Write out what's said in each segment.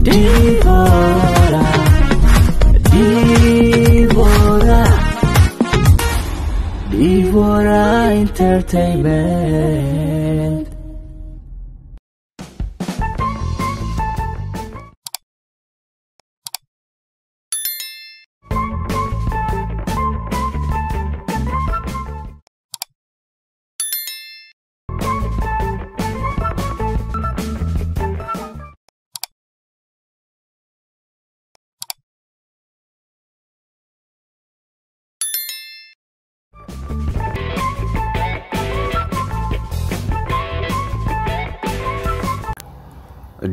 Divora, Divora, Divora Entertainment.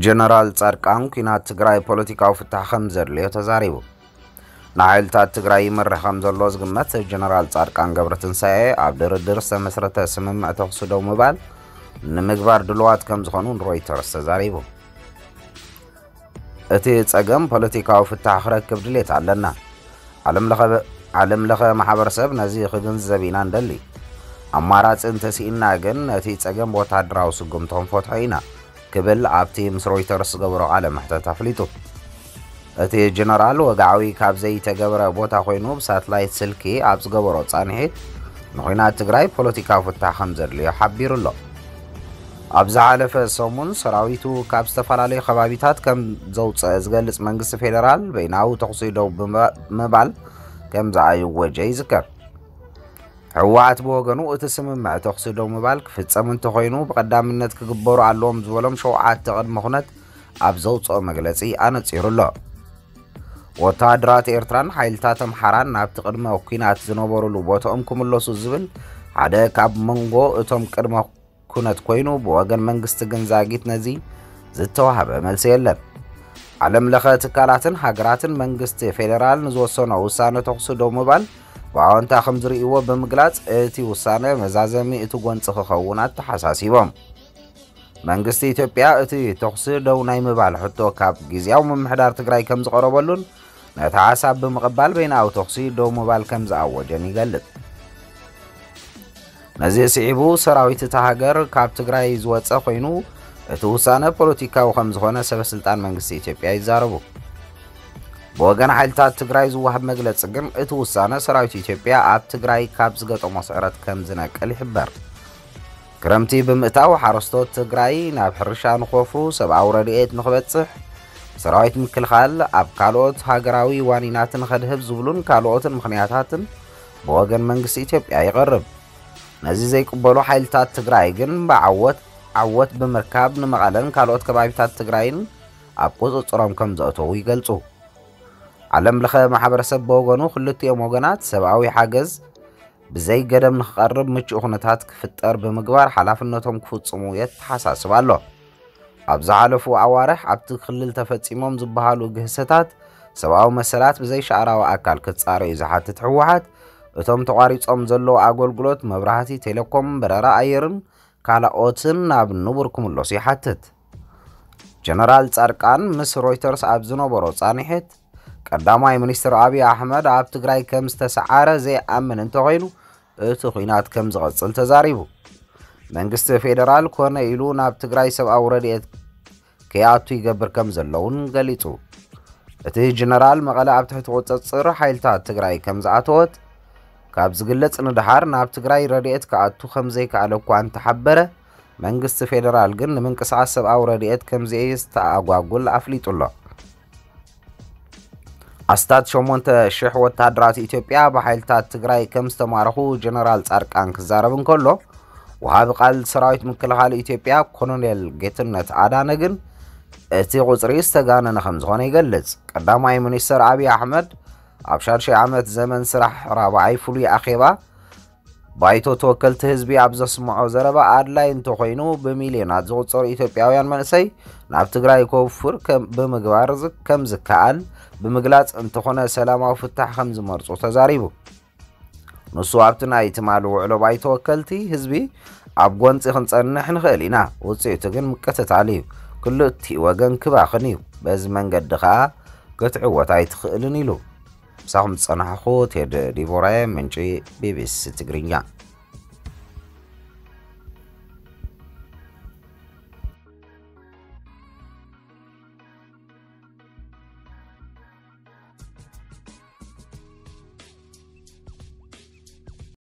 ጀነራል ጻድቃን፣ ኲናት ትግራይ ፖለቲካዊ ፍታሕ ከም ዘድልዮ ተዛሪቡ። ንሓይልታት ትግራይ ይመርሕ ከም ዘሎ ዝግመት ጀነራል ጻድቃን ገብረትንሳኤ፣ ኣብ ድርድር ዝተመስረተ ስምምዕ ተኹሲ ደው ምባል ንምግባር ድልዋት ከም ዝኾኑ ንሮይተርስ ተዛሪቡ። እቲ ጸገም ፖለቲካዊ ፍታሕ ክረክብ ድሌት ኣለና። ዓለም ለኸ፣ ዓለም ለኸ ማሕበረሰብ ነዚ ክግንዘብ ኢና እንደሊ። ኣማራጺ እንተስኢና ግን ነቲ ጸገም ብወታደራዊ ስጉምቲ ክንፈትሖ ኢና ክብል ኣብቲ ምስ ሮይተርስ ዝገበሮ ቃለ መሕተት ኣፍሊጡ። እቲ ጀነራል ወግዓዊ ካብ ዘይተገበረ ቦታ ኮይኑ ብሳትላይት ስልኪ ኣብ ዝገበሮ ጻንሒት ንኹናት ትግራይ ፖለቲካዊ ፍታሕ ከም ዘድልዮ ሓቢሩ ኣሎ። ኣብ ዝሓለፈ ሰሙን ሰራዊቱ ካብ ዝተፈላለዩ ከባቢታት ከም ዘውፀአ ዝገልጽ መንግስቲ ፌደራል በይናዊ ተኹሲ ደው ብምባል ከም ዝኣወጀ ይዝከር። ህወሓት ብወገኑ እቲ ስምምዕ ተኹሲ ደው ምባል ክፍጸም እንተኾይኑ ብቐዳምነት ክግበሩ ኣለዎም ዝበሎም ሸውዓተ ቅድመ ኩነት ኣብ ዘውፅኦ መግለፂ ኣነፂሩ ኣሎ። ወተሃደራት ኤርትራን ሓይልታት ኣምሓራን ናብቲ ቅድመ ኲናት ዝነበሩሉ ቦታኦም ክምለሱ ዝብል ሓደ ካብ መንጎ እቶም ቅድመ ኩነት ኮይኑ፣ ብወገን መንግስቲ ግን ዛጊት ነዚ ዝተዋህበ መልሲ የለን። ዓለም ለኸ ትካላትን ሃገራትን መንግስቲ ፌደራል ንዝወሰኖ ውሳነ ተኹሲ ደው ምባል ብኣወንታ ከም ዝርእይዎ ብምግላጽ፣ እቲ ውሳነ መዛዘሚ እቲ ጎንጺ ክኸውን ኣተሓሳሲቦም። መንግስቲ ኢትዮጵያ እቲ ተኹሲ ደው ናይ ምባል ሕቶ ካብ ግዝያዊ ምምሕዳር ትግራይ ከም ዝቐረበሉን ነቲ ሓሳብ ብምቕባል በይናዊ ተኹሲ ደው ምባል ከም ዝኣወጀን ይገልጽ። ነዚ ስዒቡ ሰራዊት እታ ሃገር ካብ ትግራይ ዝወጸ ኮይኑ፣ እቲ ውሳነ ፖለቲካዊ ከም ዝኾነ ሰበ ስልጣን መንግስቲ ኢትዮጵያ ይዛረቡ። ብወገን ሓይልታት ትግራይ ዝወሃብ መግለጺ ግን እቲ ውሳነ ሰራዊት ኢትዮጵያ ኣብ ትግራይ ካብ ዝገጠሞ ስዕረት ከም ዝነቅል ይሕበር። ክረምቲ ብምእታው ሓረስቶት ትግራይ ናብ ሕርሻ ንኸፉ ሰብኣዊ ረድኤት ንኽበጽሕ ሰራዊት ምክልኻል ኣብ ካልኦት ሃገራዊ ዋኒናት ንኸድህብ ዝብሉን ካልኦትን ምኽንያታትን ብወገን መንግስቲ ኢትዮጵያ ይቐርብ። ነዚ ዘይቅበሉ ሓይልታት ትግራይ ግን ብዓወት ዓወት ብምርካብ ንመቐለን ካልኦት ከባቢታት ትግራይን ኣብ ቁፅፅሮም ከም ዘእተዉ ይገልፁ። ዓለም ለኸ ማሕበረሰብ ብወገኑ ክልቲኦም ወገናት ሰብኣዊ ሓገዝ ብዘይ ገደብ ንክቐርብ ምቹእ ኩነታት ክፍጠር ብምግባር ሓላፍነቶም ክፍፅሙ የተሓሳስብ ኣሎ። ኣብ ዝሓለፉ ኣዋርሕ ኣብቲ ክልል ተፈፂሞም ዝበሃሉ ግህሰታት ሰብኣዊ መሰላት ብዘይ ሻዕራዊ ኣካል ክፃረዩ ዝሓትት ህወሓት፣ እቶም ተቋሪፆም ዘለዉ ኣገልግሎት መብራህቲ፣ ቴሌኮም፣ በረራ ኣየርን ካልኦትን ናብ ንቡር ክምለሱ ይሓትት። ጀነራል ጻድቃን ምስ ሮይተርስ ኣብ ዝነበሮ ጻንሒት፣ ቀዳማይ ሚኒስትር ኣብይ ኣሕመድ ኣብ ትግራይ ከም ዝተሰዓረ ዘይኣምን እንተኾይኑ፣ እቲ ኲናት ከም ዝቐጽል ተዛሪቡ። መንግስቲ ፌደራል ኮነ ኢሉ ናብ ትግራይ ሰብኣዊ ረድኤት ከይኣቱ ይገብር ከም ዘለውን ገሊጹ። እቲ ጀነራል መቐለ ኣብ ትሕቲ ቁጽጽር ሓይልታት ትግራይ ከም ዝኣተወት ካብ ዝግለጽ ንደሓር፣ ናብ ትግራይ ረድኤት ክኣቱ ከም ዘይከኣለ እኳ እንተሓበረ፣ መንግስቲ ፌደራል ግን ንምንቅስቓስ ሰብኣዊ ረድኤት ከም ዘየስተኣጓጉል ኣፍሊጡ ኣሎ። ኣስታት ሸሞንተ ሽሕ ወታደራት ኢትዮጵያ ብሓይልታት ትግራይ ከም ዝተማረኹ ጀነራል ጻድቃን ክዛረብ እንከሎ፣ ወሃቢ ቃል ሰራዊት ምክልኻል ኢትዮጵያ ኮሎኔል ጌትነት ኣዳነ ግን እቲ ቁጽሪ ዝተጋነነ ከም ዝኾነ ይገልጽ። ቀዳማይ ሚኒስተር ኣብይ ኣሕመድ ኣብ ሻድሻይ ዓመት ዘመን ስራሕ ራብዓይ ፍሉይ ኣኼባ ባይቶ ተወከልቲ ህዝቢ ኣብ ዘስምዖ ዘረባ፣ ኣድላይ እንተኾይኑ ብሚልዮናት ዝቑጸሩ ኢትዮጵያውያን መንእሰይ ናብ ትግራይ ከውፍር ከም፣ ብምግባር ዝ-፣ ከም ዝከኣል ብምግላጽ፣ እንተኾነ ሰላማዊ ፍታሕ ከም ዝመርጹ ተዛሪቡ። ንሱ ኣብቲ ናይ ትማሊ ውዕሎ ባይቶ ወከልቲ ህዝቢ ኣብ ጎንጺ ክንጸንሕ ንኽእል ኢና፣ ውጽኢቱ ግን ምቅትታል እዩ፣ ክልቲኡ ወገን ክባኽን እዩ፣ በዚ መንገዲ ኸኣ ክትዕወት ኣይትኽእልን ኢሉ። ምሳኹም ዝጸናሕኹ ቴድ ዲቦራየ፣ ምንጪ ቢቢሲ ትግርኛ።